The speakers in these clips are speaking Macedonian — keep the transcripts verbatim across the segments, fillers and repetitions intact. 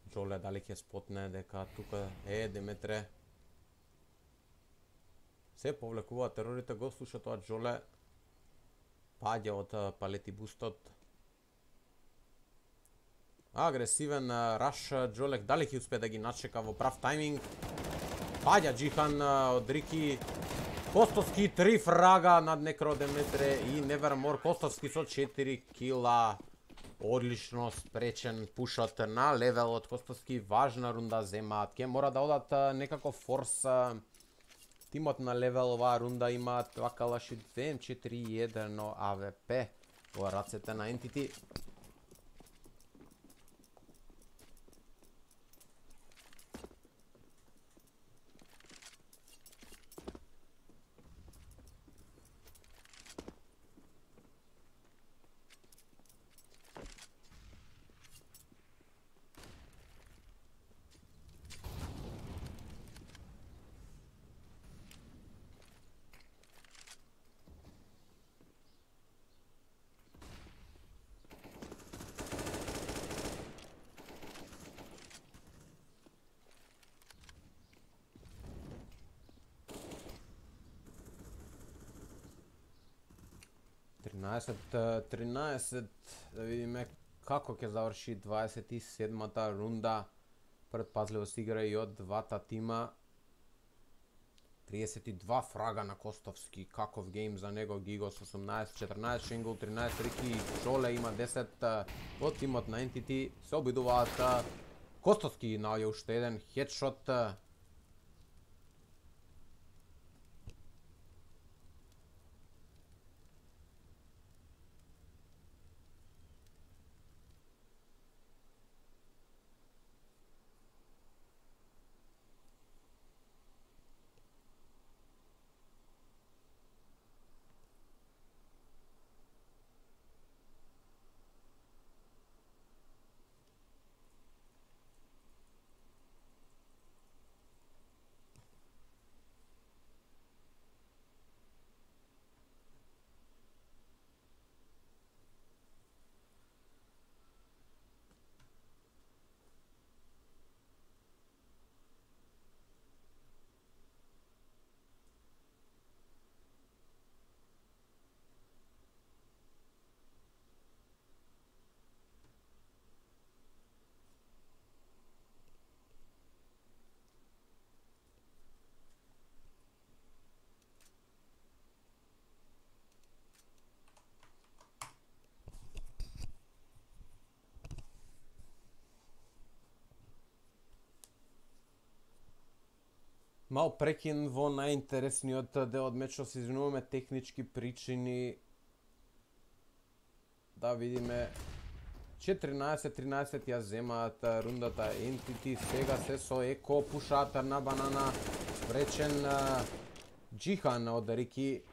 Джоле дали ќе спотне дека тука е Деметре. Се повлекуваат терорите, го слуша тоа Джоле. Паѓа од палети бустот. Агресивен раш Джолек, дали ќе успее да ги начека во прав тајминг. Паѓа Джихан од Рики. Костовски три фрага над Некро Деметре и Невермор. Костовски со четири кила. Одлично спречен пушот на левелот. Костовски важна рунда земаат. Ке мора да одат некако форс. Тимот на левел оваа рунда имаат два калаши две ем четири и едно А В П во рацете на Entity. тринаесет тринаесет, да видиме како ќе заврши дваесет и седмата рунда. Предпазливо се игра и од двата тима. триесет и два фрага на Костовски, каков гейм за него. Гигос осумнаесет четрнаесет, Шенгул тринаесет, Рики Джоле има десет. Во тимот на Entity се обидуваат. Костовски наоѓа уште еден хедшот. Мал прекин во најинтересниот дел од мечот, се извинуваме технички причини. Да видиме четрнаесет тринаесет ја земаат рундата Entity, сега се со Еко пушаат на банана, спречен Джихан од Рики.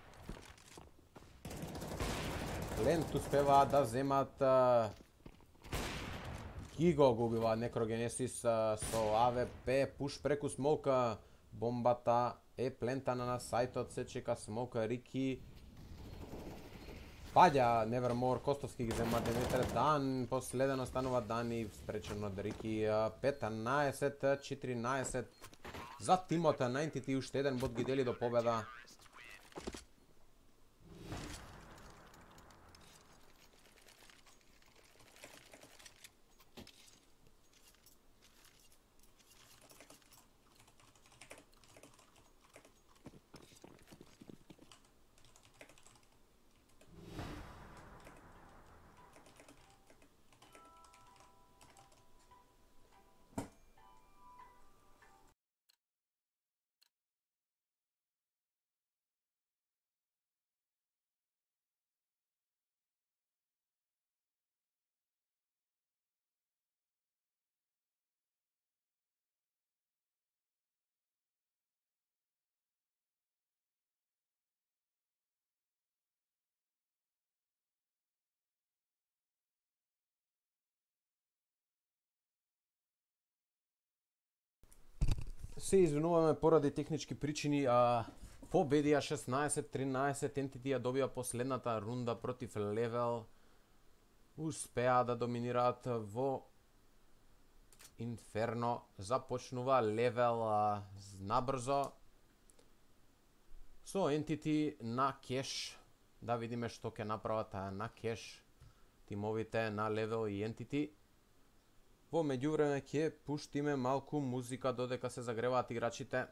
Лент успеваат да земат. Гиго го убива Некрогенесис со А В П, пуш преку смока. Бомбата е плентана на сајтот, се чека смока Рики. Паѓа Невермор, Костовски ги зема Деметре, Дан, последено станува Дан и спречен од Рики. петнаесет четиринаесет за тимот на Entity, уште еден бот ги дели до победа. Се извинуваме поради технички причини, а победија шеснаесет тринаесет, Entity ја добија последната рунда против Левел. Успеа да доминираат во Inferno започнува левел а, набрзо со Entity на кеш. Да видиме што ќе направат на кеш тимовите на левел и Entity. Во меѓувреме ќе пуштиме малку музика додека се загреваат играчите.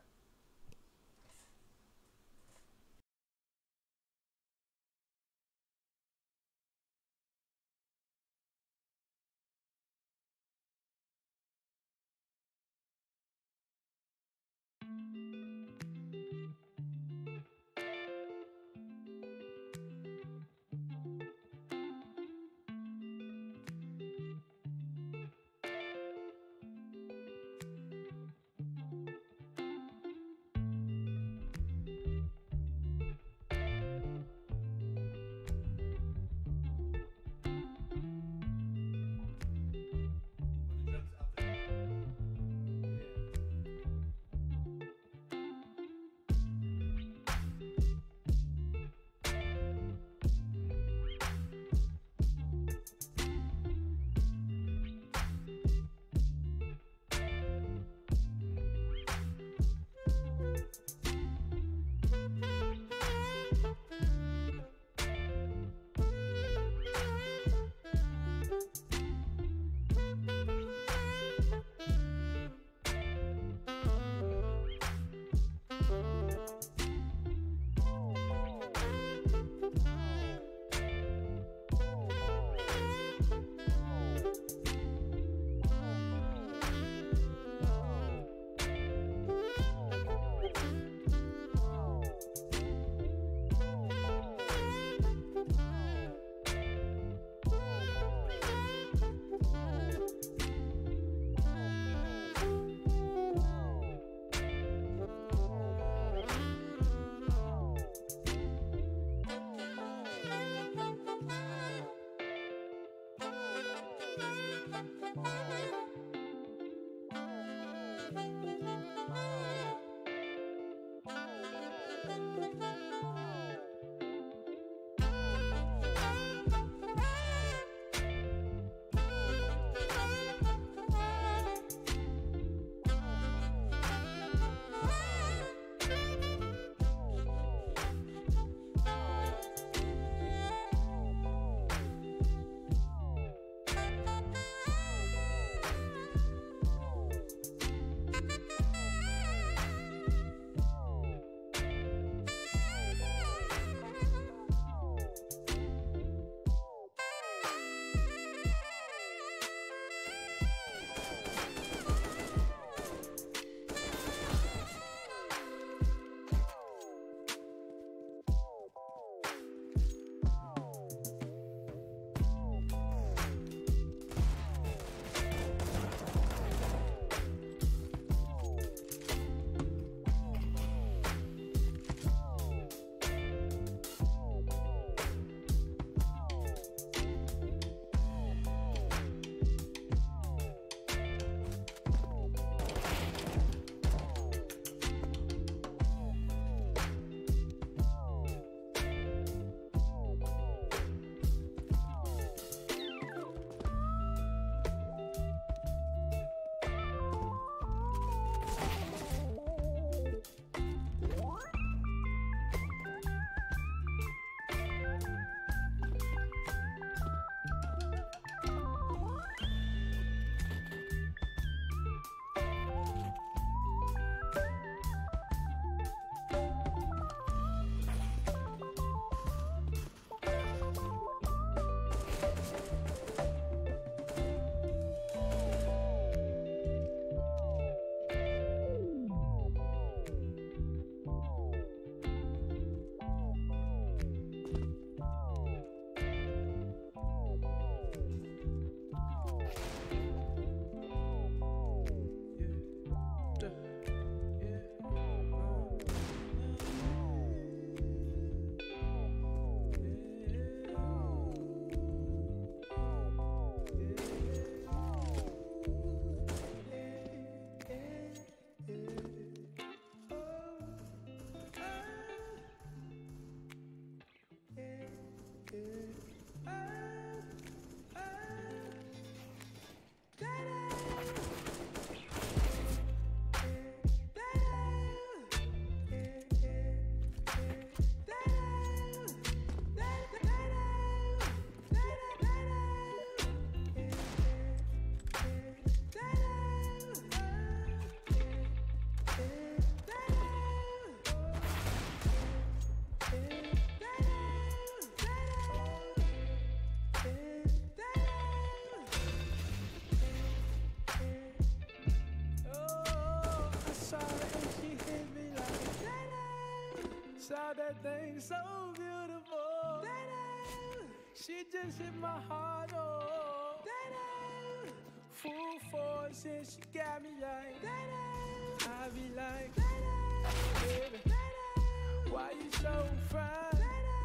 Saw that thing so beautiful. Da-da. She just hit my heart, oh. Da-da. Full force and she got me like, da-da. I be like, da-da. Baby, da-da. Why you so fine? Da-da.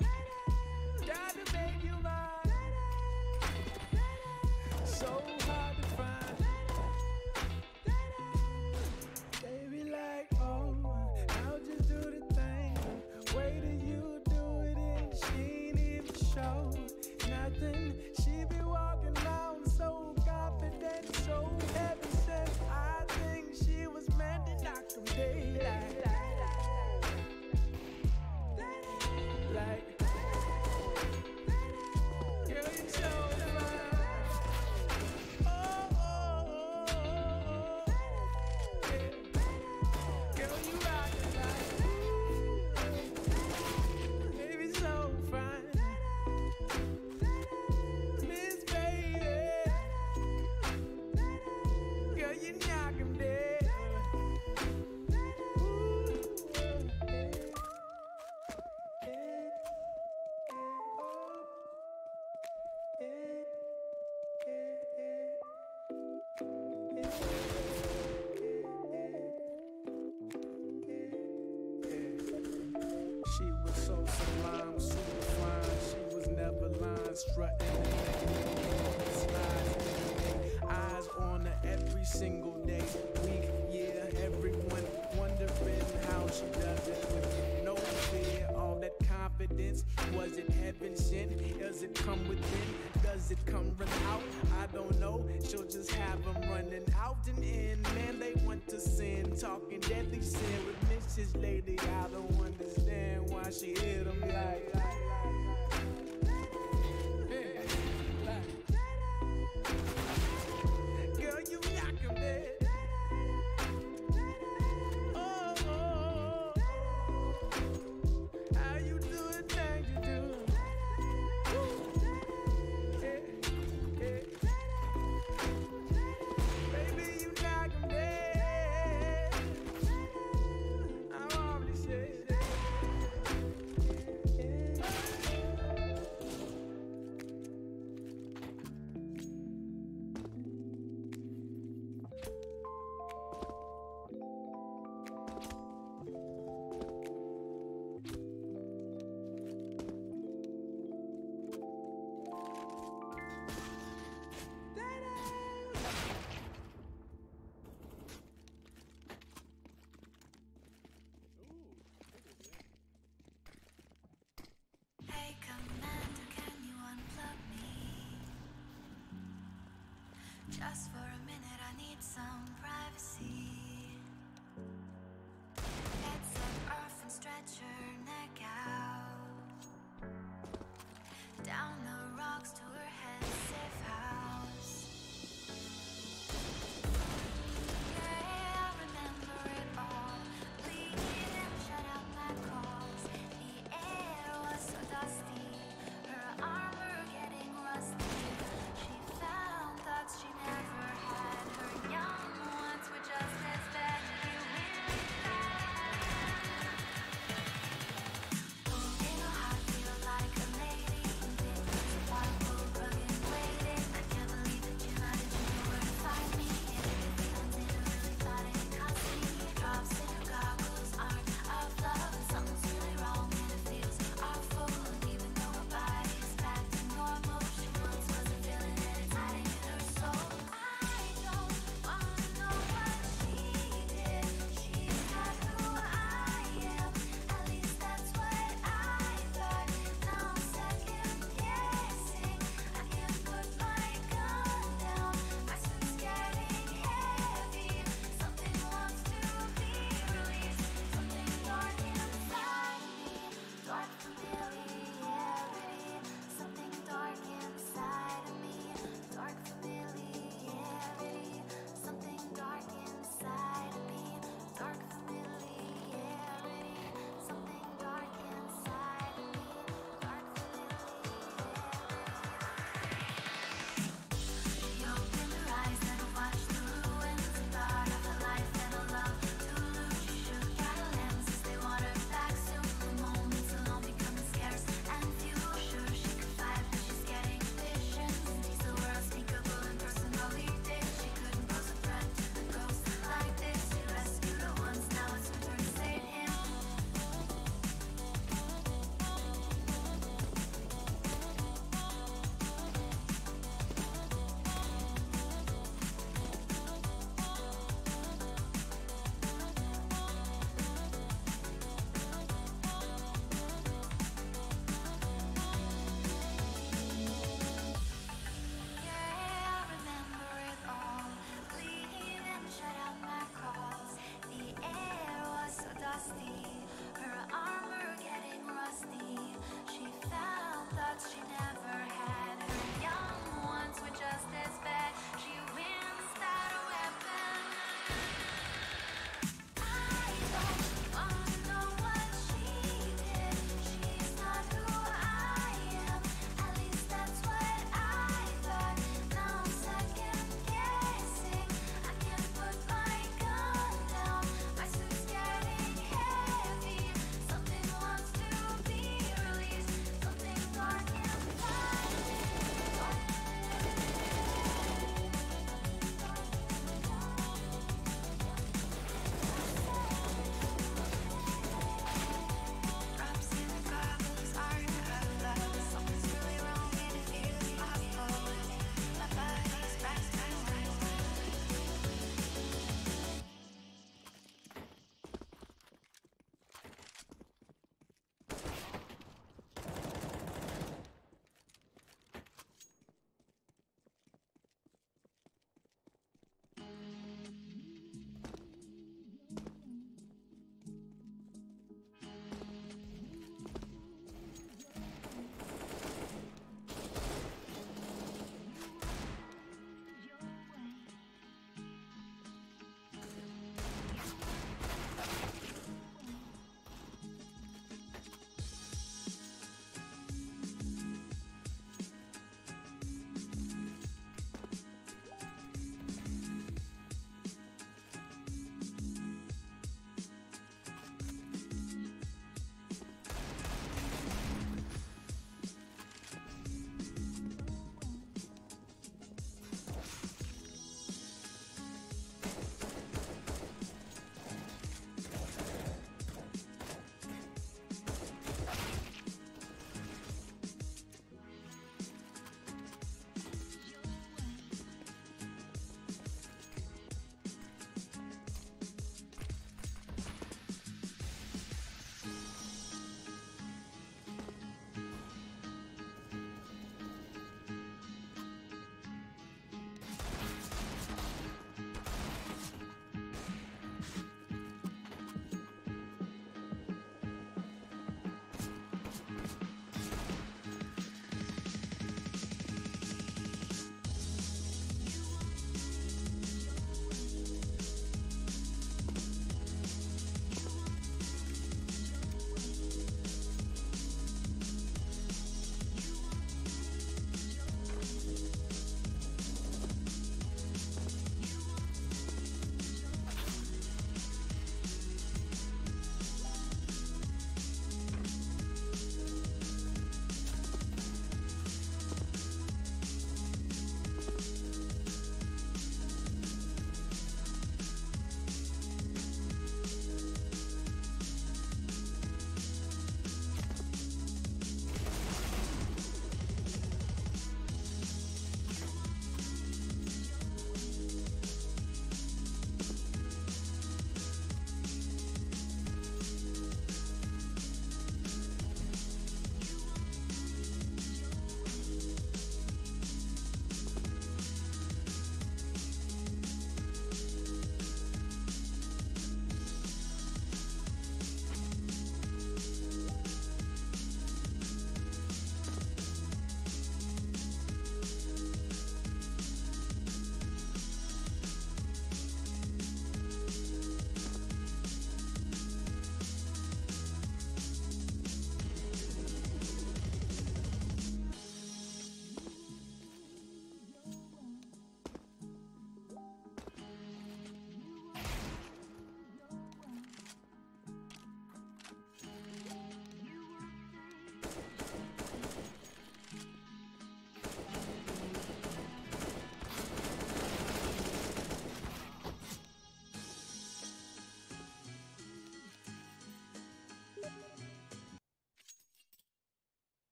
Da-da. Gotta make you mine. Da-da. Da-da. So hard to find. Da-da. Da-da. They be like, oh, I'll just do the thing. Wait till you do it and she ain't even show nothing. She be walking around so confident, so heavy set. I think she was meant to knock them daylight. Like, girl, you so fine. Oh, oh, oh, oh, oh. Yeah. Girl, you rockin' like, baby, so fine. Miss Baby, girl, you knock 'em dead. She was so sublime, super fine. She was never lying, strutting and slides. Eyes on her every single day, week, year. Everyone wondering how she does it with no fear. All that confidence, was it heaven sent? Does it come within? Does it come run out? I don't know. She'll just have them running out and in. Man, they want to sin, talking deadly sin with Missus Lady. I don't understand why she hit them like, like, like, like. Girl, you knock 'em dead. Oh, oh, oh. How you do the thing you do? Yeah, yeah. Baby, you knock 'em dead. I'm already said that. Hey Commander, can you unplug me? Just for a minute, I need some privacy. Headset off and stretch your neck out. Down the rocks to her head's safe house. Yeah, I remember it all. Bleeding, shut out my calls. The air was so dusty, her armor getting rusty. She found thoughts she never had.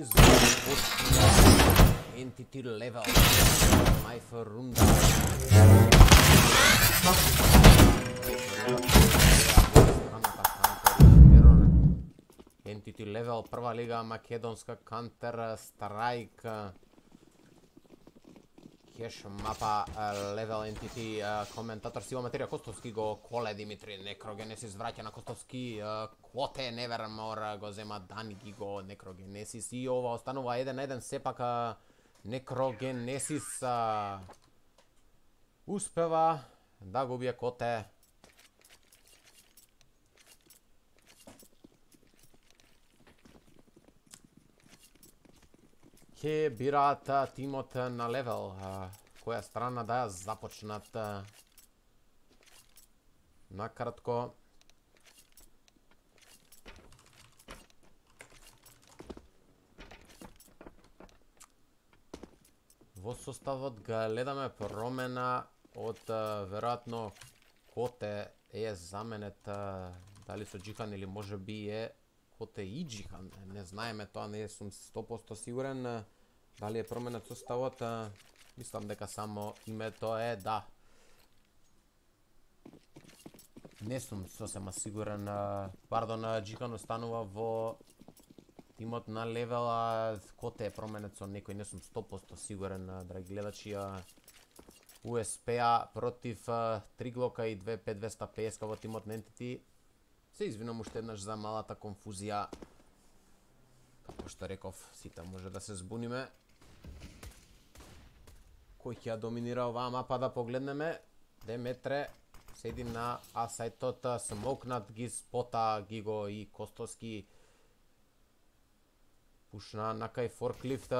и започна Entity Level. Knife рунда. Entity Level, прва лига македонска Counter Strike. Кеш мапа Level Entity, коментатор Сива Материја Костовски го коле Димитри Некрогенесис, враќа на Костовски, Квоте Nevermore го зема Дани ги го Некрогенесис и ова останува еден на еден, сепак Некрогенесис успева да го убие Коте. Ке бираат тимот на Level, која страна да ја започнат. Накратко, во составот гледаме промена од веројатно Коте е заменет дали со Джихан или може би е Коте и Джихан, не знаеме тоа, не сум сто проценти сигурен дали е променет составот, мислам дека само името е, да. Не сум сосема сигурен, пардон, Джихан останува во тимот на Level, а Коте е променет со некој, не сум сто проценти сигурен, драги гледачи. У Ес Пе против Триглока и две пет двеста петдесет во тимот на Entity. Се извинам уште еднаш за малата конфузија. Како што реков, сите може да се збуниме. Кој ќе ја доминира оваа мапа да погледнеме? Деметре седи на А-сајтот, смокнат ги спота ги го и Костовски. Пушна на кај форклифт.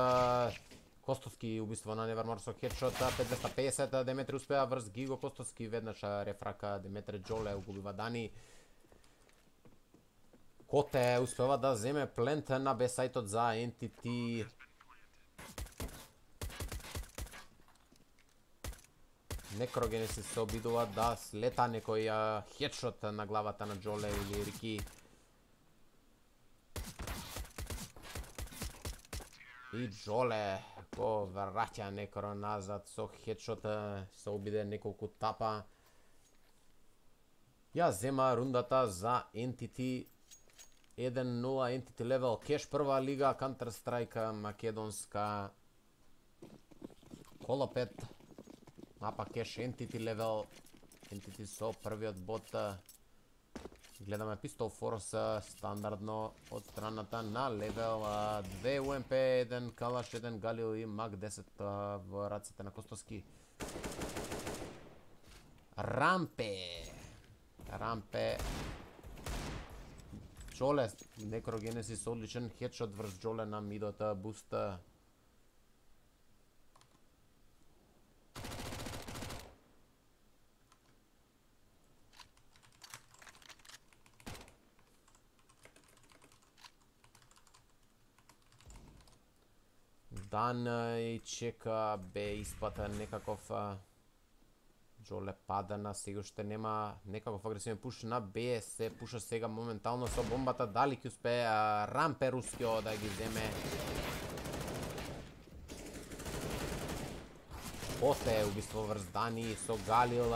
Костовски убиство на Nevermore со хедшот, пет двеста петдесет, Деметре успеа врз Гиго Костовски, веднаш рефрака Деметре Джоле угубива Дани. Коте успева да земе плент на Б-сајтот за Entity. Некрогенесис се обидува да слета некој хедшот на главата на Джоле или Рики. И Джоле го враќа некој назад со хедшот, се обиде неколку тапа. Ја зема рундата за Entity. еден нула Entity Level, Кеш прва лига, Counter Strike македонска. Коло пет, мапа Кеш Entity Level, Entity со првиот бот. Гледаме Pistol Force стандардно од страната на Level, две У Ем Пе, еден Калаш, еден Галил и Мак десет во раците на Костовски. Рампе, Рампе, Джоле, Некрогенесис одличен хедшот врз Джоле на мидота, буста. Дан и чека бе испата некаков. Джоле пада на сега уште нема некаков агресивен пуш на Б, се пуша сега моментално со бомбата, дали ќе успее Рампе рускио да ги земе. Коте убиство врз Дани со Галил,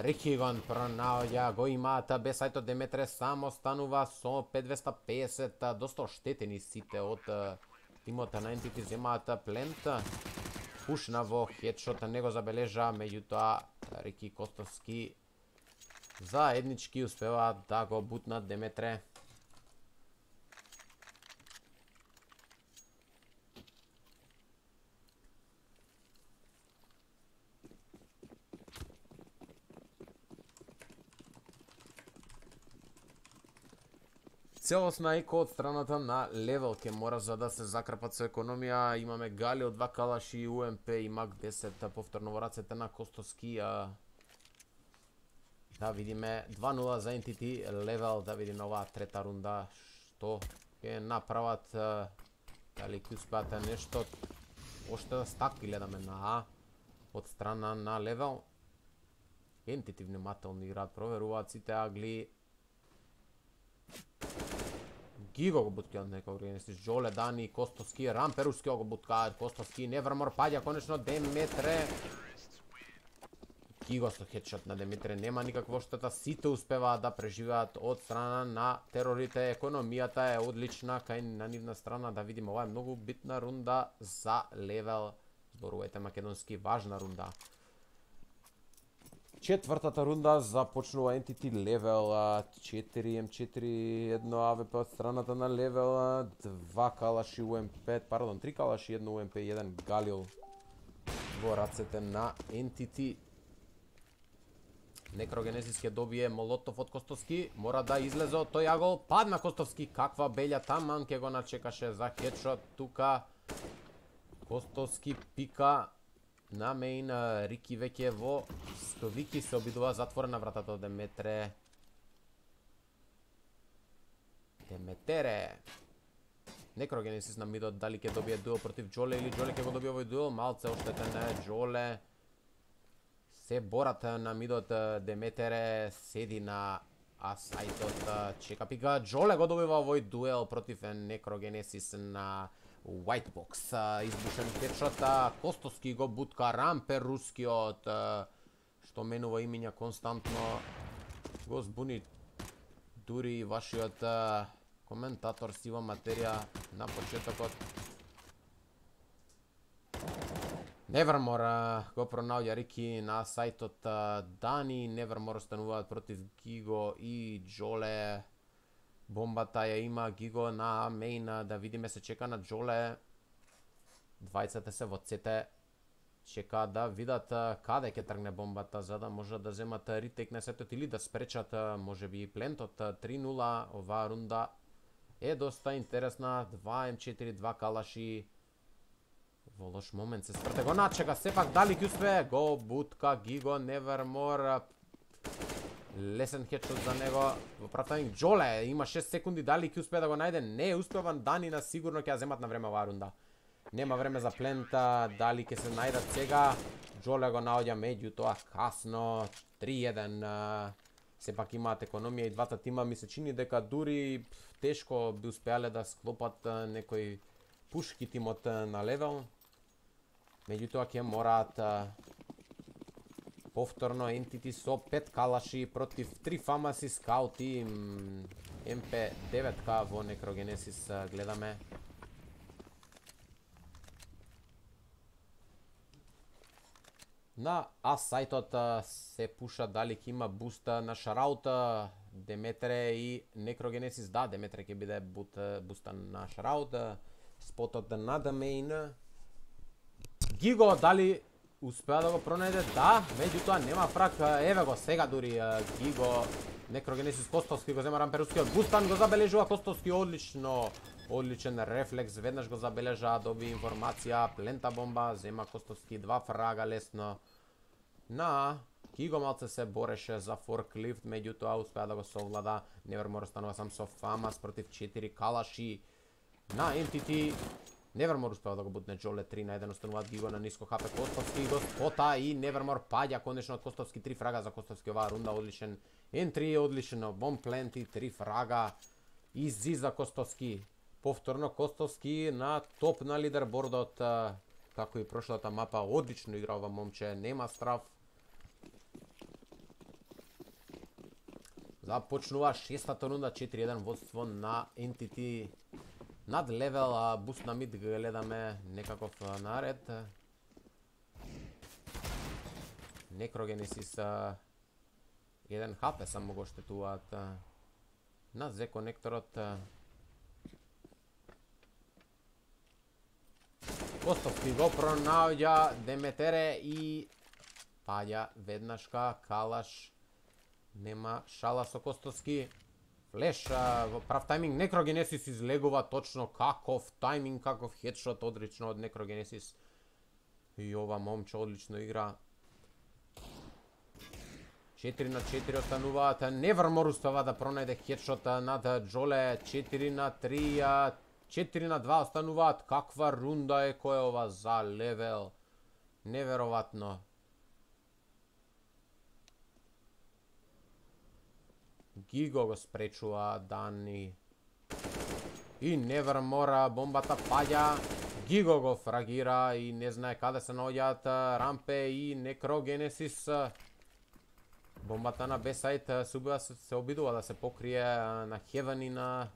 Рики го пронаоѓа, го имаат Б-сајтот, Деметре само станува со пет двеста петдесет, доста оштетени сите од тимот на Entity, земаат плент. Пушна во хедшот, не го забележа, меѓутоа Рики Костовски заеднички успева да го бутнат Деметре. Целосна еко од страната на Level ке мора за да се закрпат со економија. Имаме Гали од два калаши, У Ем Пе и Мак десет повторно во рацете на Костовски. Да видиме два нула за Entity Level, да видиме оваа трета рунда што ќе направат, дали ќе успеат нешто. Оште стаки гледаме на А од страна на Level. Entity внимателно играат, проверуваат сите агли. Гиго го буткаат некој Генесис, Джоле, Дани, Костовски, Рамперуски го буткаат, Костовски, Невермор паѓа конечно Деметре. Гиго со хедшот на Деметре, нема никаква штета, сите успеваат да преживеат од страна на терорите, економијата е одлична кај на нивна страна, да видиме, ова е многу битна рунда за левел, зборувајте македонски, важна рунда. Четвртата рунда започнува Entity левел четири М четири, едно А В П од страната на левел, два калаши У М П, пардон, три калаши, едно У М П, еден Галил во рацете на Entity. Некрогенесис ќе добие молотов од Костовски, мора да излезе од тој агол, падна Костовски, каква белја таман ќе го начекаше за хедшот тука. Костовски пика на мейн, Рики веќе во Стовики се обидува затворена вратата од Деметре. Деметере. Некрогенесис на мидот, дали ќе добие дуел против Джоле или Джоле ќе го добие овој дуел, малце оштетен е Джоле. Се борат на мидот, Деметере седи на асајтот, чека пика, Джоле го добива овој дуел против Некрогенесис на White Box, избушен хедшот, Костовски го бутка, Рампер рускиот, што менува имиња константно, го збуни дури и вашиот коментатор Сива Материја на почетокот. Невермор го пронаоѓа Рики на сајтот Дани, Невермор остануваат против Гиго и Джоле. Бомбата ја има Гиго на мейн, да видиме, се чека на Джоле. Двајцата се во цете, чека да видат каде ќе тргне бомбата, за да можат да земат ритейк на сетот или да спречат можеби плентот. Три нула, оваа рунда е доста интересна, два М четири, два калаши. Во лош момент се спрте, го начека, сепак дали ќе успее, го бутка Гиго, Невермор. Лесен хедшот за него во прав тајминг. Джоле има шест секунди, дали ќе успее да го најде? Не успева, Данина сигурно ќе ја земат на време оваа рунда. Нема време за плента, дали ќе се најдат сега. Джоле го наоѓа меѓутоа касно, три еден. Сепак имаат економија и двата тима, ми се чини дека дури тешко би успеале да склопат некој пушки тимот на левел. Меѓутоа ќе мораат повторно Entity со пет калаши против три фамаси скаути, М П девет во Некрогенесис гледаме. На А сајтот се пуша дали ќе има буста на Шараута, Деметре и Некрогенесис. Да, Деметре ќе биде буста на Шараута, спотот на Дамейн. Гиго дали успеа да го пронајде? Да, меѓутоа нема фрак. Еве го сега дури Гиго, Некрогенесис, Костовски го зема Рамперускиот. Бустан го забележува Костовски, одлично, одличен рефлекс, веднаш го забележа, доби информација, плента бомба, зема Костовски два фрага лесно. На Гиго малце се бореше за форклифт, меѓутоа успеа да го совлада. Невермор останува сам со фамас против четири калаши. На Entity Невермор успеа да го бутне Джоле, три на еден, остануваат Гиго на ниско ХП. Костовски го спота и Невермор паѓа конечно од Костовски, три фрага за Костовски оваа рунда, одличен ентри, одличен бомб пленти, три фрага иззиза Костовски. Повторно Костовски на топ на лидербордот, како и прошлата мапа, одлично игра ова момче, нема страв. Започнува шестата рунда, четири еден водство на Entity. Над левел, буст на мид гледаме некаков наред. Некрогенесис еден хп само го штетуваат на Зе конекторот. Костовски го пронаоѓа Деметере и паѓа веднашка калаш. Нема шала со Костовски. Флеш во прав тајминг, Некрогенесис излегува точно, каков тајминг, каков хедшот одлично од Некрогенесис. И ова момче одлично игра. четири на четири остануваат, Невермор успева да пронајде хедшот над Джоле, четири на три, четири на два остануваат. Каква рунда е која ова за левел. Невероватно. Гиго го спречува Дани. И Nevermore бомбата паѓа. Gigo го фрагира и не знае каде се наоѓаат Рампе и Некрогенесис. Бомбата на Б-сайт се, се обидува да се покрие на Heaven и на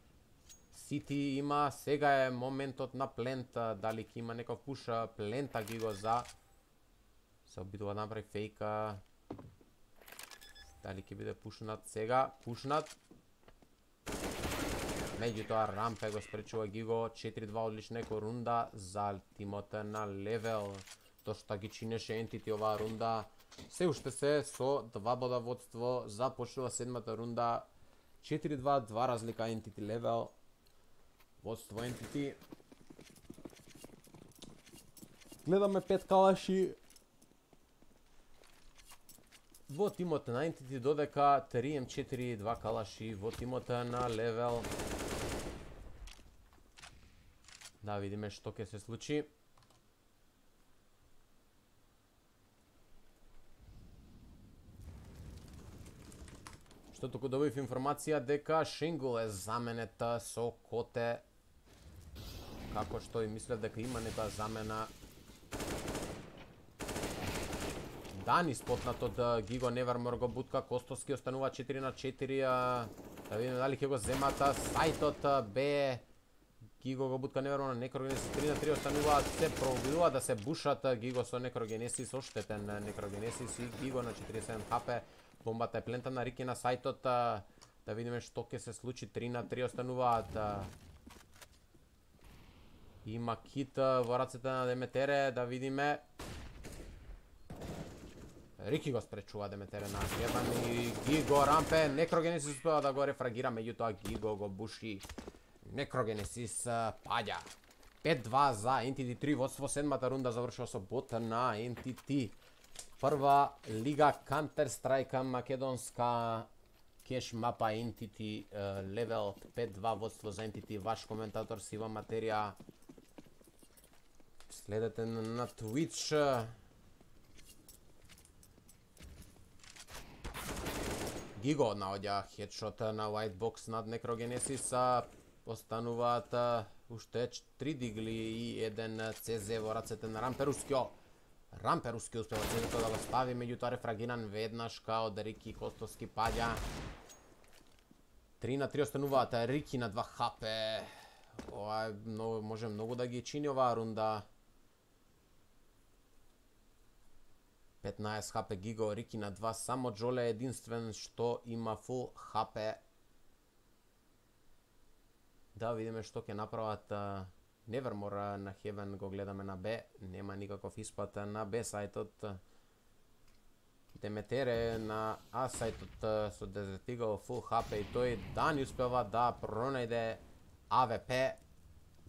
City. Има, сега е моментот на плент. Дали ќе има некој пуш? Плента Gigo за. Се обидува да направи фейка. Дали ќе биде пушнат сега? Пушнат. Меѓутоа Рампе го спречува Gigo. четири два одлична еко рунда за тимот на Левел. Тоа што ги чинеше Entity оваа рунда. Се уште се со два бода водство. Започнува седмата рунда. четири два, два разлика Entity Левел. Водство Entity. Гледаме пет калаши. Во тимот на Entity додека три ем четири, два калаши во тимот на Левел. Да видиме што ќе се случи. Што туку добив информација дека Шингул е заменет со Коте. Како што и мислев дека има некоја замена. Дани спотнат од Gigo, Nevermore го бутка, Костоски останува четири на четири. Да видиме дали ќе го земат сајтот Б. Gigo го бутка Nevermore, Некрогенесис три на три остануваат, се пробидува да се бушат Gigo со Некрогенесис, оштетен Некрогенесис и Gigo на четириесет и седум хп. Бомбата е плента на Рики на сајтот. Да видиме што ќе се случи, три на три остануваат. Има кит во рацете на Деметере, да видиме. Рики го спречува Деметере на Heaven и Gigo, Рампе, Некрогенесис успева да го рефрагира, меѓутоа Gigo го буши. Некрогенесис паѓа. пет два за Entity три, водство седмата рунда завршува со бот на Entity. Прва лига Counter-Strike македонска кеш мапа Entity Level пет два водство за Entity. Ваш коментатор Сива Материја. Следете на Twitch. Gigo наоѓа хедшот на White Box над Некрогенесис. Остануваат уште три дигли и еден Це Зе во рацете на Рампе Рускио. Рампе Рускио успева Цезето да го стави, меѓутоа рефрагиран веднаш као од Рики Костоски паѓа. три на три остануваат, Рики на два хп. Ова е многу, може многу да ги чини оваа рунда. петнаесет хп Gigo, Рики на два, само Джоле единствен што има фул хп. Да видиме што ќе направат Nevermore на Heaven, го гледаме на Б, нема никаков испат на Б сајтот. Деметере на А сајтот со Desert Eagle фул хп и тој Дани успева да пронајде А В П,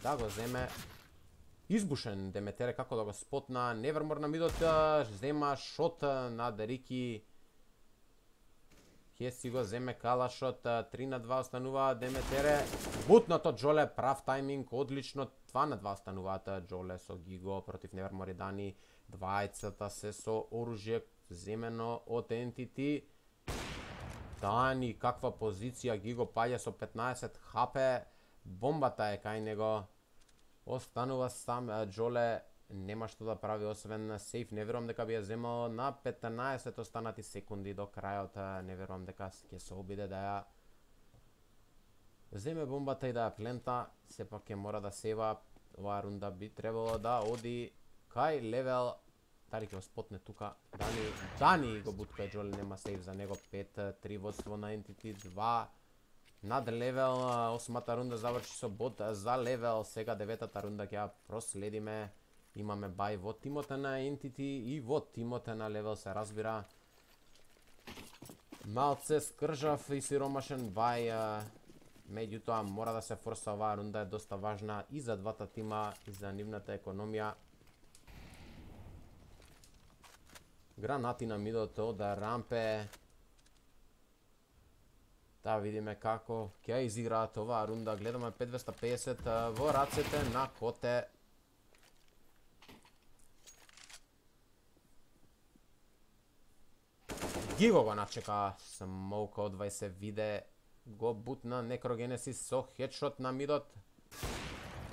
да го земе. Избушен Деметере како да го спотна. Nevermore на мидот зема шот над Рики. Ќе си го земе калашот, три на два останува Деметере. Бутнато Джоле, прав тајминг, одлично. два на два остануваат Джоле со Gigo против Nevermore и Дани. Двајцата се со оружје земено од Entity. Дани, каква позиција, Gigo паѓа со петнаесет хп. Бомбата е кај него. Останува сам Джоле, нема што да прави освен сейф. Не верувам дека би ја земал на петнаесет останати секунди до крајот. Не верувам дека ќе се обиде да ја земе бомбата и да ја плента. Сепак ќе мора да сева. Оваа рунда би требало да оди кај Левел. Дали ќе го спотне тука? Дани, Дани го бутка и Джоле, нема сейф за него. пет три водство на Entity, два над Левел. Осмата рунда заврши со бот за Левел. Сега деветата рунда ќе ја проследиме. Имаме бај во тимот на Entity и во тимот на Левел, се разбира. Малце скржав и сиромашен бај. Меѓутоа мора да се форса, оваа рунда е доста важна и за двата тима и за нивната економија. Гранати на мидот од Рампе. Да видиме како ќе изиграат оваа рунда. Гледаме пет двеста педесет во рацете на Коте. Gigo го начека, смоука од двајсет виде, го бутна Некрогенесис со хедшот на мидот.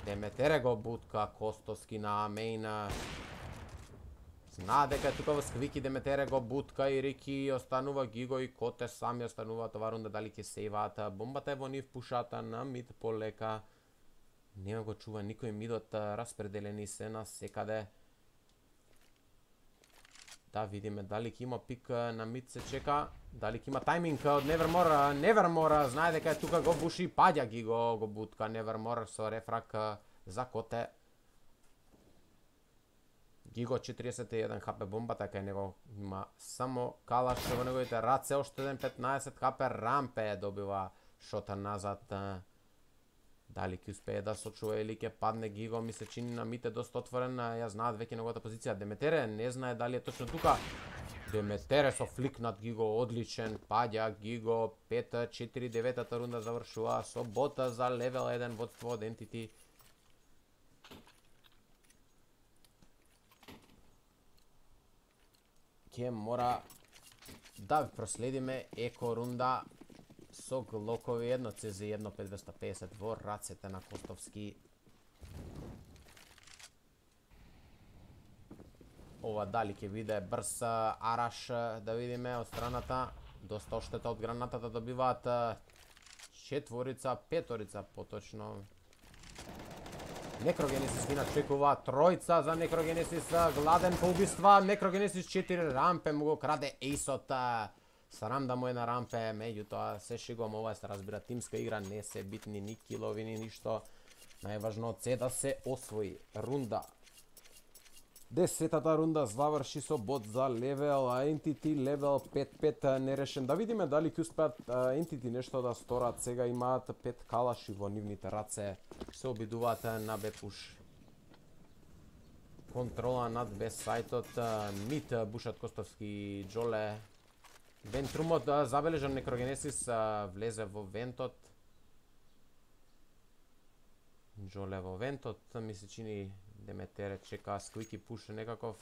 Деметере го бутка Костовски на мейн. Знае дека тука во сквики Деметере го бутка и Рики останува Гиго и Коте сами остануваат ова рунда, дали ќе сейваат. Бомбата е во нив, пушата на мид полека. Нема го чува никој мидот, распределени се на секаде. Да видиме дали ќе има пик на мид, се чека. Дали ќе има тајминг од Nevermore. Nevermore знае дека е тука, го буши, паѓа Гиго, го бутка Nevermore со рефрак за Коте. Гиго четириесет и еден хп, бомбата кај него има само калаш во неговите раце, уште еден петнаесет хп, Рампе добива шота назад. Дали ќе успее да сочува или ќе падне Гиго, ми се чини на мите доста отворен, ја знаат веќе неговата позиција. Деметере не знае дали е точно тука. Деметере со флик над Гиго, одличен, паѓа Гиго, пет четири, деветата рунда завршува со бота за левел еден водство од Entity. Ке мора да проследиме еко рунда со глокови едно Ци Зи едно пет двеста педесет во рацете на Костовски. Ова дали ќе биде брз араш, да видиме од страната. Доста оштета од гранатата добиваат четворица, петорица поточно. Некрогенесис ги начекува, тројца за Некрогенесис, гладен по убиства, Некрогенесис четири, Рампе му го краде ейсот, срам да му е на Рампе, меѓутоа се шегувам, ова се разбира тимска игра, не се битни ни килови ни ништо, најважно е да се освои рунда. Десетата рунда заврши со бот за левел, а Entity левел пет пет нерешен. Да видиме дали ќе успеат Entity нешто да сторат. Сега имаат пет калаши во нивните раце. Се обидуваат на бепуш. Контрола над без сајтот. Мид бушат Костовски, Джоле. Вентрумот забележан Некрогенесис влезе во вентот. Джоле во вентот, ми се чини Деметере чека сквики пуш некаков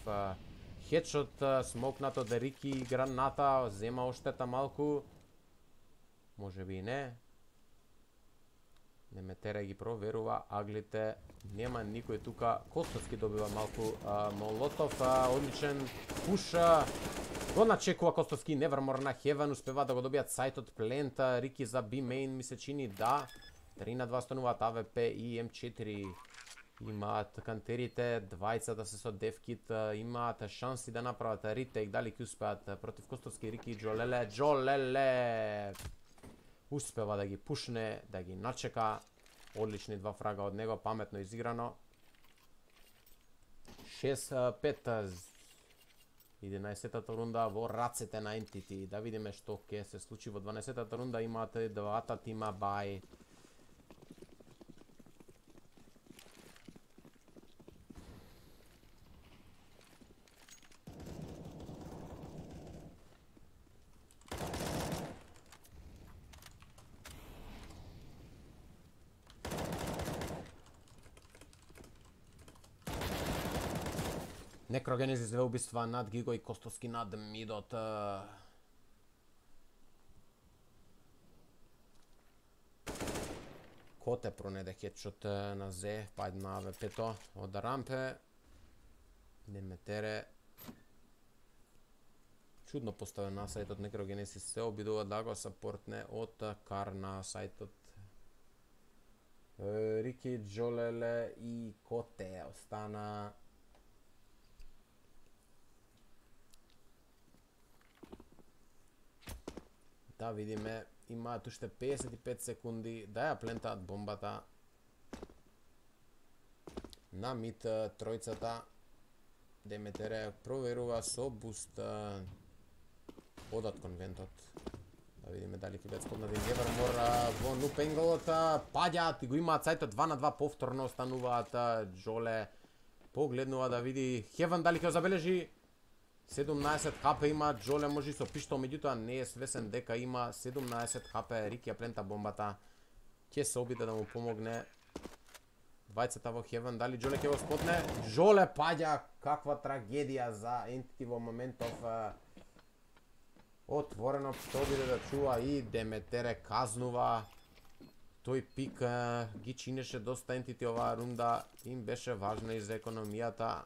хедшот, смокнато од Рики, граната, зема оштета малку. Може би и не. Деметере ги проверува аглите, нема никој тука. Костовски добива малку а, молотов, а, одличен пуш. Го начекува Костовски, Nevermore на Heaven, успева да го добијат сајтот плент, Рики за B main ми се чини да. три на два стануваат А В П и М четири. Имаат кантерите, двајцата се со девкит, имаат шанси да направат ритейк, дали ќе успеат против Костовски, Рики и Джолеле. Джолеле успева да ги пушне, да ги начека. Одлични два фрага од него, паметно изиграно. шест пет. единаесеттата рунда во рацете на Entity. Да видиме што ќе се случи во дванаесеттата рунда. Имате двата тима бај. Некрогенезис две убиства над Гиго и Костовски над мидот. Коте пронеде хедшот на Зе, пајд на А В П-то од Рампе. Деметере чудно поставен на сајтот Некрогенезис, се обидува да го сапортне од Кар на сајтот. Рики, Джолеле и Коте остана. Да видиме, имаат уште педесет и пет секунди да ја плентаат бомбата. На мид тројцата. Деметере проверува со буст. Одат кон вентот. Да видиме дали ќе бидат споднати Nevermore во нупенголот. Паѓаат и го имаат сајтот два на два повторно, остануваат. Джоле погледнува да види Heaven дали ќе забележи. седумнаесет хп има Джоле, може и со пиштол, меѓутоа не е свесен дека има седумнаесет хп. Рики ја плента бомбата. Ќе се обиде да му помогне. Двајцата во Heaven, дали Джоле ќе го спотне? Джоле паѓа, каква трагедија за Entity во моментов. Отворено што биде да чува и Деметере казнува. тој пик а, ги чинеше доста ентити оваа рунда, им беше важна и за економијата.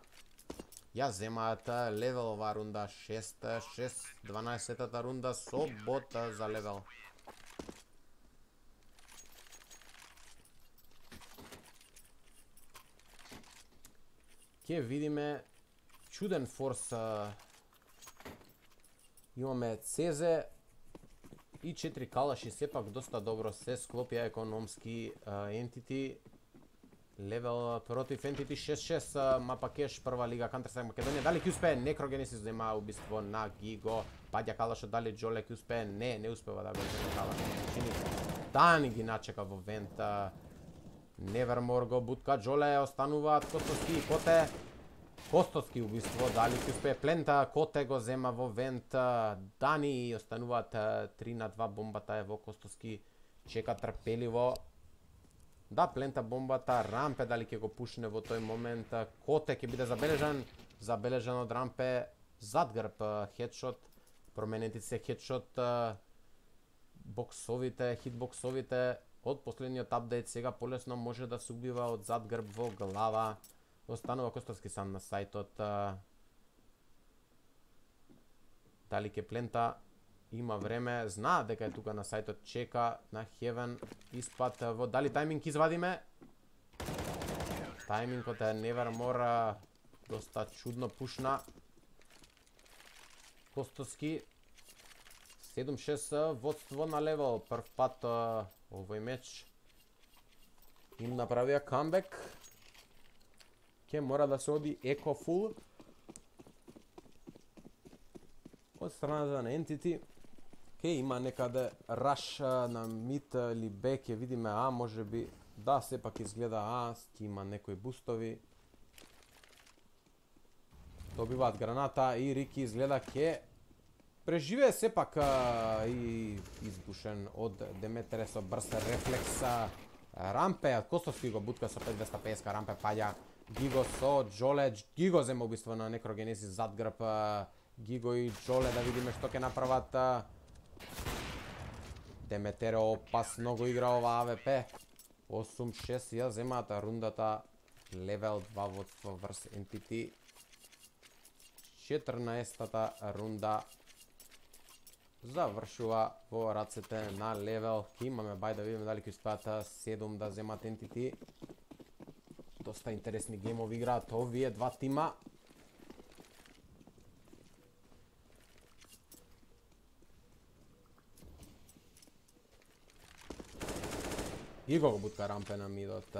Ја земаат левел оваа рунда, шест шест, дванаесеттата рунда со бот за левел. Ке видиме чуден форс. Имаме Цезе и четири калаши, сепак доста добро се склопија економски ентити. Левел против ентити шест шест, мапа кеш, прва лига Counter-Strike Македонија. Дали ќе успее? Некрогенесис зема убиство на Гиго. Паѓа калашот, дали Джоле ќе успее? Не, не успева да го земе калашот. Чини Дани ги начека во вент. Невермор го бутка Джоле, остануваат Костоски и Коте. Костоски убиство, дали ќе успее Плента, Коте го зема во вент. Дани остануваат три на два, бомбата е во Костоски, чека трпеливо. Да, Плента бомбата, Рампе дали ќе го пушне во тој момент. Коте ќе биде забележан, забележан од Рампе, зад грб хедшот, променети се хедшот, боксовите, хитбоксовите од последниот апдейт сега полесно може да се убива од зад грб во глава. Останува Костоски сам на сајтот. Дали ќе Плента има време, знаа дека е тука на сајтот, чека на Heaven испад во дали тајминг извадиме. Тајмингот е Nevermore, доста чудно пушна. Костоски седум шест водство на левел, прв пат овој меч им направија камбек. Ке мора да се оди еко фул од страната на ентити. Ке има некаде раш на мид или Б, ке видиме А, може би, да, сепак изгледа А, ке има некои бустови. Добиваат граната и Рики изгледа ке преживее сепак а, и избушен од Деметере со брз рефлекс. Рампе, Костоски го бутка со пет двеста петдесет, Рампе паѓа. Гиго со Джоле, Гиго зема убиство на Некрогенесис зад грб. Гиго и Джоле, да видиме што ќе направат. Деметере опасно го игра ова АВП. осум шест ја земаат рундата, левел два водство врз ентити. четрнаесеттата рунда завршува во рацете на левел. Ке имаме бај да видиме дали ќе успеат седум да земат ентити. Доста интересни геймови играат овие два тима. И го бутка Рампе на мидот.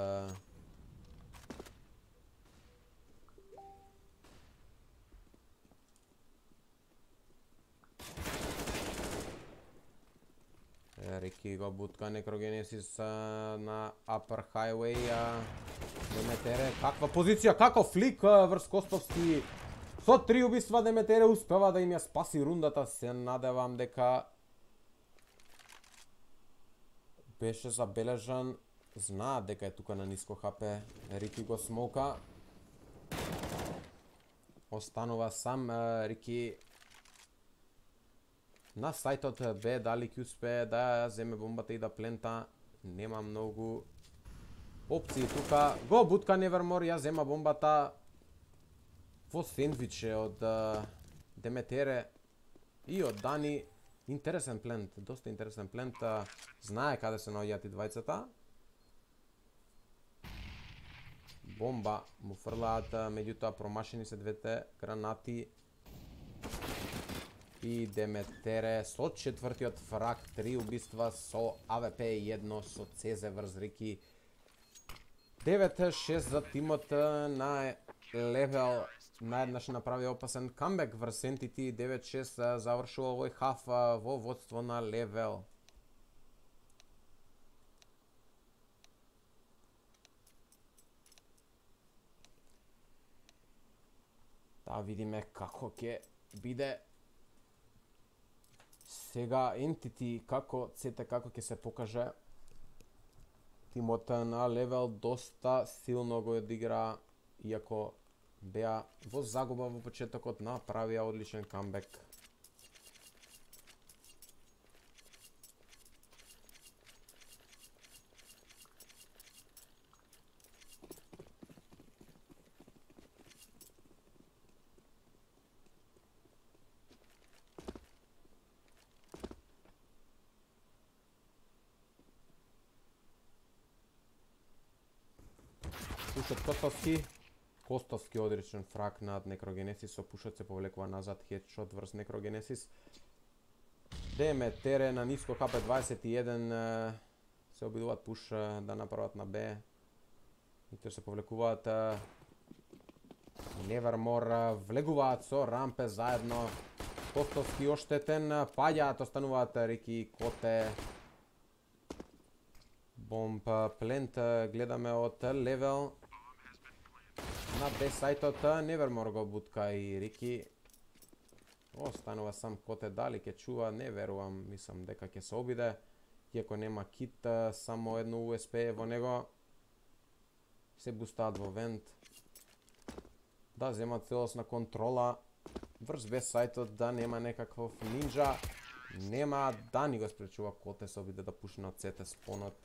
Рики го бутка Некрогенесис на Upper Highway. Деметере, каква позиција, каков флик врз Костовски. Со три убиства Деметере успева да им ја спаси рундата. Се надевам дека беше забележан. Знаа дека е тука на ниско ХП. Рики го смоука. Останува сам Рики на сајтот Б. Дали ќе успее да земе бомбата и да Плента? Нема многу опции тука. Го бутка Nevermore, ја зема бомбата во сендвиче од Деметере и од Дани. Интересен плент, доста интересен плент. Знае каде се наоѓаат и двајцата. Бомба му фрлаат, меѓутоа промашени се двете гранати. И Деметере со четвртиот фраг, три убиства со АВП и едно со Цезе врз Рики. девет шест за тимот на левел. Наеднаш направи опасен камбек врз ентити. девет шест завршува овој хаф во водство на левел. Да видиме како ќе биде сега ентити, како цете како ќе се покаже. Тимот на левел доста силно го одигра, иако беа во загуба во почетокот, направија одличен камбек. Пушот Костовски. Костовски одречен фрак над Некрогенесис, со пушот се повлекува назад, хедшот врз Некрогенесис. ДМ Тере на ниско ХП дваесет и еден се обидуваат пуш да направат на Б. И тоа се повлекуваат. Nevermore влегуваат со Рампе заедно. Костовски оштетен, паѓаат, остануваат Рики, Коте. Бомб плент гледаме од левел. На Б сајтот Nevermore го бутка и Рики. Останува сам Коте, дали ќе чува, не верувам, мислам дека ќе се обиде. Иако нема кит, само едно У Ес Пи во него. Се бустаат во вент. Да земат целосна контрола врз Б сајтот, да нема некаков нинджа. Нема, да ни го спречува Коте, се обиде да пушне од Сете спонот.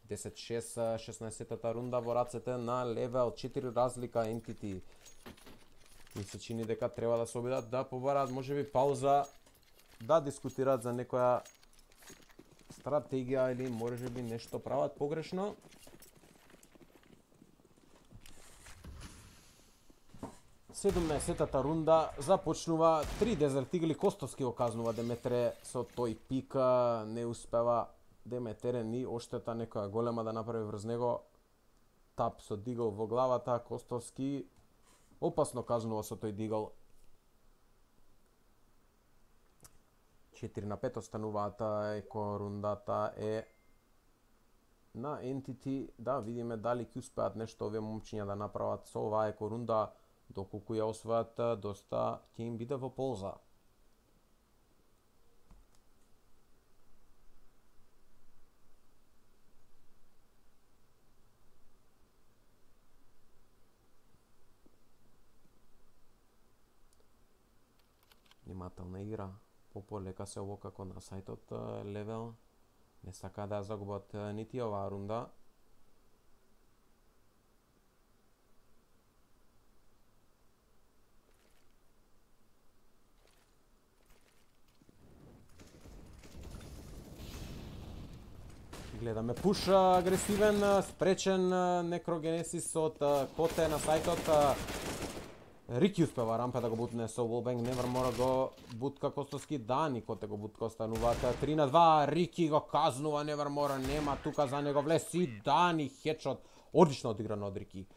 десет шест, шеснаесеттата рунда во рацете на левел, четири разлика Entity. Ми се чини дека треба да се обидат да побараат можеби пауза, да дискутираат за некоја стратегија или можеби нешто прават погрешно. седумнаесеттата рунда започнува, три Desert Eagle, Костовски го казнува Деметре со тој пик, не успева Деметре ни оштета некоја голема да направи врз него. Тап со дигл во главата, Костовски опасно казнува со тој дигл. четири на пет остануваат, еко рундата е на Entity. Да видиме дали ќе успеат нешто овие момчиња да направат со оваа еко рунда. Доколку ја освојат, доста ќе им биде во полза. Внимателна игра. Пополека се ово како на сајтот левел. Не сака да ја загубат нити оваа рунда. Гледаме пуш агресивен, спречен Некрогенесис од Коте на сајтот. Рики успева Рампе да го бутне со Wallbang, Nevermore го бутка Костовски, Дани Коте го бутка, остануваат три на два, Рики го казнува Nevermore, нема тука за него влез и Дани хедшот, одлично одиграно од Рики.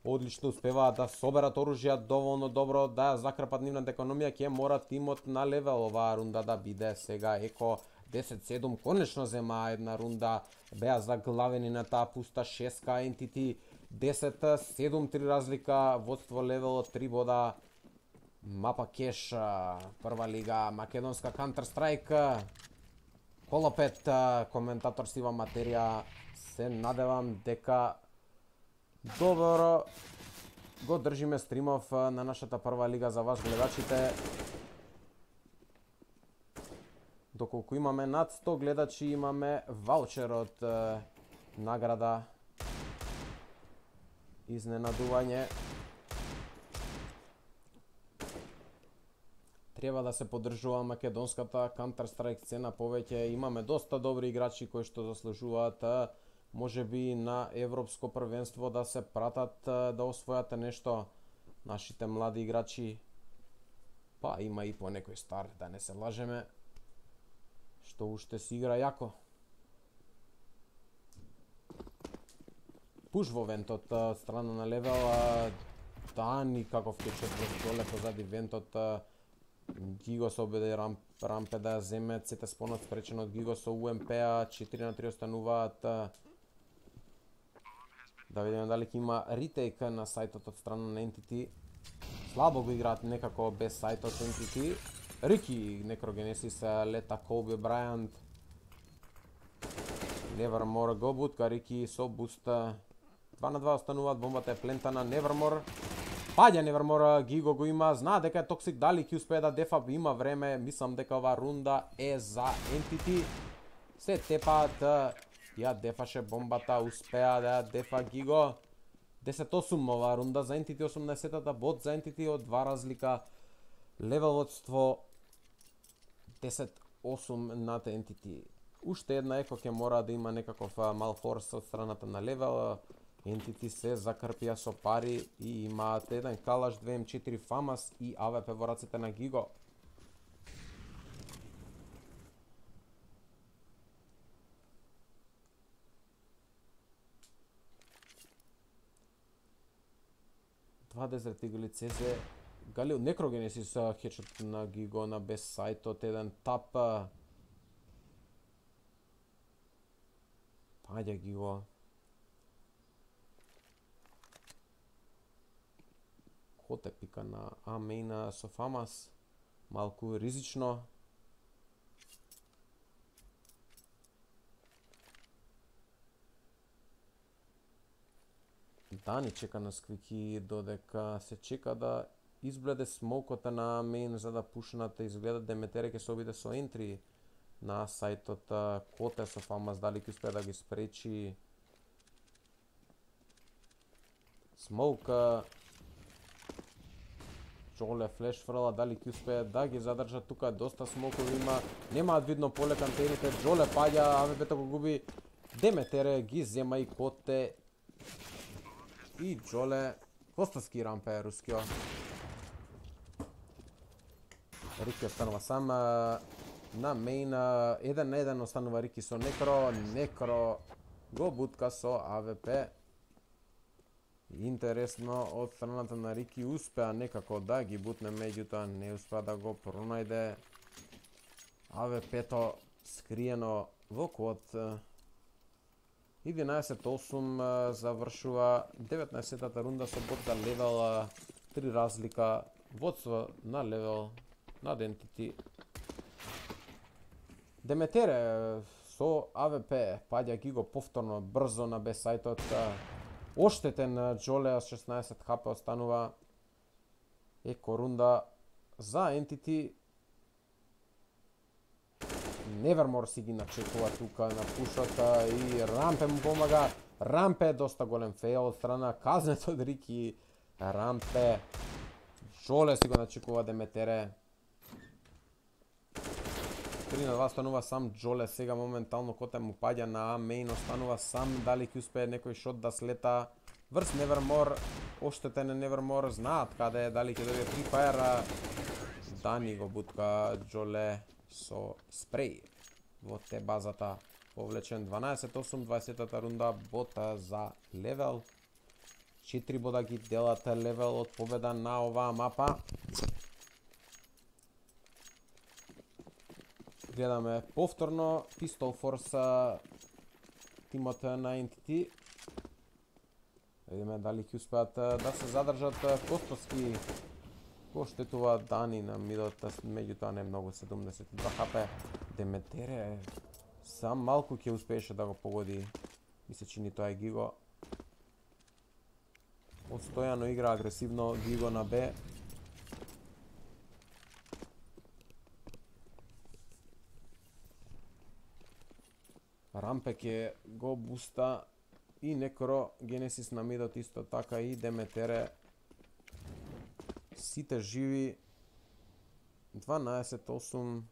Одлично успеваат да соберат оружја доволно добро да ја закрпат нивната економија, ќе мора тимот на левел оваа рунда да биде сега еко десет седум, конечно зема една рунда, беа заглавени на таа пуста шеска Entity, десет седум, три разлика, водство левел од три бода, Мапа Кеш, прва лига, македонска Counter-Strike, Колопет, коментатор Сива Материја, се надевам дека добро го држиме стримов на нашата прва лига за вас гледачите. Доколку имаме над сто гледачи, имаме ваучер од е, награда. Изненадување. Треба да се поддржува македонската Counter-Strike сцена повеќе. Имаме доста добри играчи кои што заслужуваат можеби на европско првенство да се пратат, да освојат нешто. Нашите млади играчи, па има и по некој стар, да не се лажеме, што уште си игра јако. Пуш во вентот, страна на левел, Дани каков кечот доле позади вентот, Гиго се обиде рамп, Рампе да ја земе, Сете спонот спречен од Гиго со У Ем Пе, четири на три остануваат. Да видиме дали ќе има ретейк на сајтот од страна на Entity. Слабо го играат некако без сајтот Entity. Рики, Некрогенесис, лета Колби Брајант. Nevermore го бутка Рики со буста. два на два остануваат, бомбата е плентана, Nevermore. Паѓа Nevermore, Гиго го има, знае дека е токсик, дали ќе успее да дефа, има време, мислам дека оваа рунда е за Entity. Се тепаат, ја дефаше бомбата, успеа да ја дефа Гиго. десет осум оваа рунда за Entity, осумнаесеттата бот за Entity од два разлика. Левел водство десет осум над Entity. Уште една еко ќе мора да има некаков мал форс од страната на левел. Entity се закрпија со пари и имаат еден калаш, две ем четири фамас и А В П во рацете на Гиго. Два Desert Eagle С З Галил Некрогенесис хечот на Гиго на без сајтот, еден тап. Паѓа Гиго. Коте пика на А мейна со фамас. Малку ризично. Дани чека на сквики додека се чека да избледе смокота на мейн за да пушнат. Изгледа Деметере ќе се обиде со ентри на сајтот. Коте со фамас дали ќе успее да ги спречи. Смоук. Джоле флеш фрла, дали ќе успее да ги задржа тука, доста смокови има. Немаат видно поле кантените. Джоле паѓа, А В П го губи. Деметере ги зема и Коте. И Джоле Костовски рампе рускио. Рики останува сам на мейн. Еден на еден останува Рики со Некро. Некро го бутка со А В П. Интересно, од страната на Рики успеа некако да ги бутне, меѓутоа не успеа да го пронајде. А В П-то скриено во код. единаесет осум завршува деветнаесеттата рунда со бот за левел три разлика. Водство на левел над Entity. Деметере со А В П паѓа Гиго повторно брзо на без сајтот. Оштетен Джоле с шеснаесет хп останува. Еко рунда за Entity. Невермор си ги начекува тука на пушот и Рампе му помага. Рампе доста голем фейл од страна казнет од Рики. Рампе. Джоле си го начекува Деметере. три на два останува сам Джоле. Сега моментално Коте му паѓа на А мейн, останува сам. Дали ќе успее некој шот да слета врз Невермор. Оштетен е Невермор, знаат каде е, дали ќе добие Free Fire. Дани го бутка Джоле со спреј во те базата. Повлечен дванаесет осум, дваесеттата рунда, бота за левел. четири бода ги делат левел од победа на оваа мапа. Гледаме повторно Pistol Force тимот на Entity. Видиме дали ќе успеат да се задржат. Костовски го штетува Дани на мидот, меѓутоа не многу, седумдесет и два хп. Деметере сам малку ќе успееше да го погоди. Ми се чини тоа е Гиго. Отстојано игра агресивно Гиго на Б. Рампе ќе го буста и Некро Генесис на мидот исто така и Деметере. Сите живи. дванаесет осум.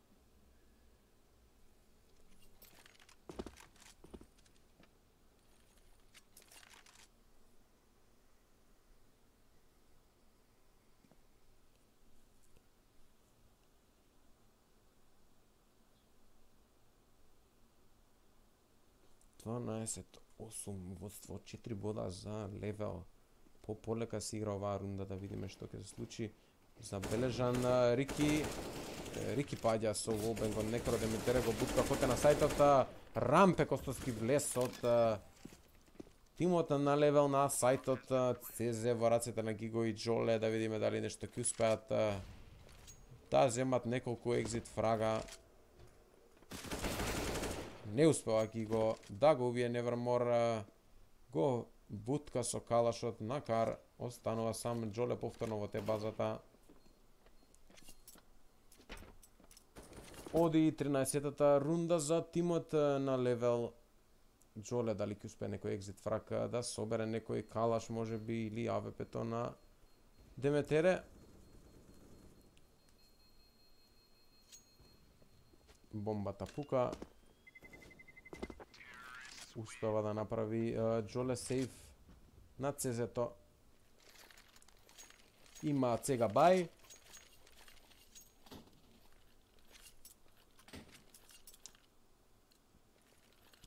дванаесет осум водство, четири бода за левел. По полека се игра оваа рунда, да видиме што ќе се случи. Забележан Рики. Рики паѓа со волбенг од Некро. Деметере го бутка Коте на сајтот. Рампе Костовски влез од тимот на левел на сајтот. ЦЗ во рацете на Гиго и Джоле, да видиме дали нешто ќе успеат да земат неколку екзит фрага. Не успеа Гиго да го убие Невермор. Го бутка со калашот на Кар. Останува сам Джоле повторно во те базата. Оди тринаесеттата рунда за тимот на левел. Джоле дали ќе успее некој екзит фраг да собере некој калаш може би или А В П-то на Деметере. Бомбата пука. Успева да направи Джоле сейф. на ЦЗ-то. Има Цега Бај.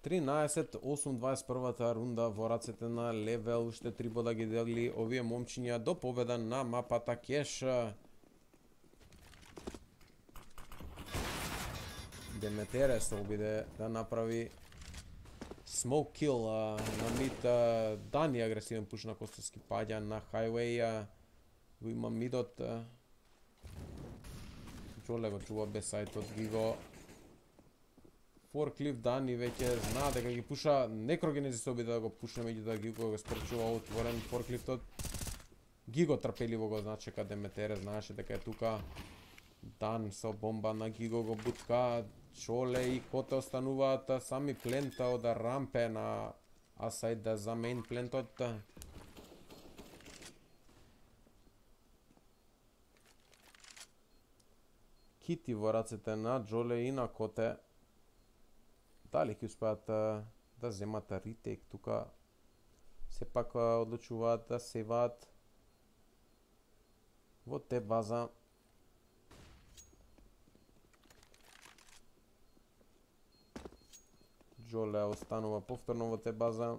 тринаесет осум дваесет и првата рунда во рацете на Левел, уште три бода ги дели овие момчиња до победа на мапата Кеш. Деметере се обиде да направи smoke kill на мид. Дани агресивен пуш на Костовски паѓа на Highway. Го има мидот. Джоле го чува без сајтот, ги го Forklift Дани веќе знаа дека ги пуша, Некрогенези се обиде да го пушне, меѓутоа ги го спречува отворен Forkliftot. Гиго трпеливо го значека Деметере, знаеше дека е тука. Дан со бомба на Гиго го бутка. Чоле и Коте остануваат сами плента од рампе на асајд за мейн плентот. Кити во рацете на Джоле и на Коте. Дали ќе успеат да земат ретейк тука? Сепак одлучуваат да севаат во те база. Джоле останува повторно во те база.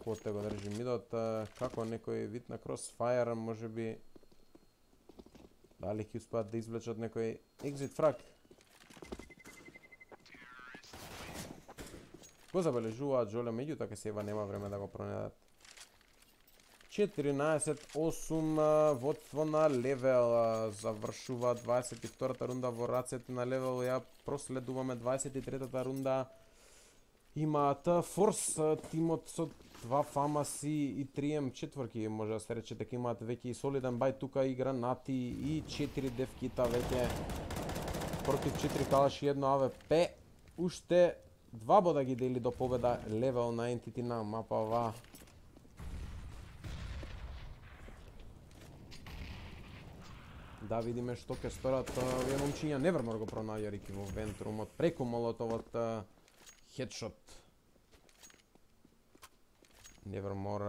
Коте го држи мидот, како некој вид на crossfire, може би. Дали ќе успеат да извлечат некој exit frag? Го забележуваат Джоле, меѓутоа ке сева нема време да го пронедат. четиринаесет осум водство на Левел. Завршува дваесет и втората рунда во рацете на Левел. Ја проследуваме дваесет и третата рунда. Имаат Форс тимот со два фамаси и три ем четврки, може да се рече дека имаат веќе и солиден бај тука, и гранати и четири девкита веќе против четири калаши и едно а вэ пе. Уште два бода ги дели до победа Левел на Entity на мапава. Да видиме што ќе сторат овие момчиња. Невермор го пронаѓа Рики во вентрумот преку молотовот хедшот. Невермор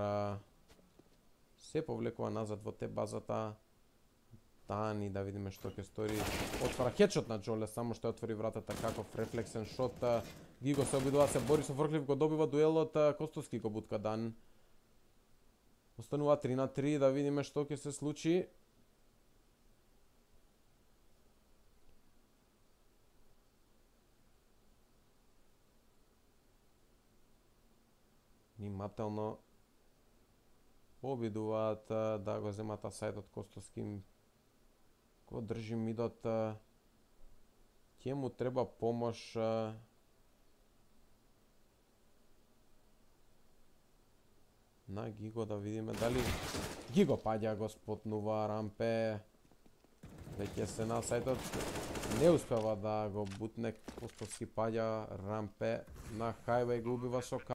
се повлекува назад во те базата. Дани, да видиме што ќе стори. Отвара хедшот на Джоле, само што отвори вратата каков рефлексен шот. Гиго се обидува се бори со Forklift, го добива дуелот, Костовски го бутка Дан. Останува три на три, да видиме што ќе се случи. Внимателно обидуваат да го земат асајдот Костовски. Го држи мидот. Ќе му треба помош. На Гиго, да видиме дали Гиго паѓа, го спотнува рампе. Веќе се на сајтот. Не успева да го бутне, Костовски паѓа рампе на Highway, го убива со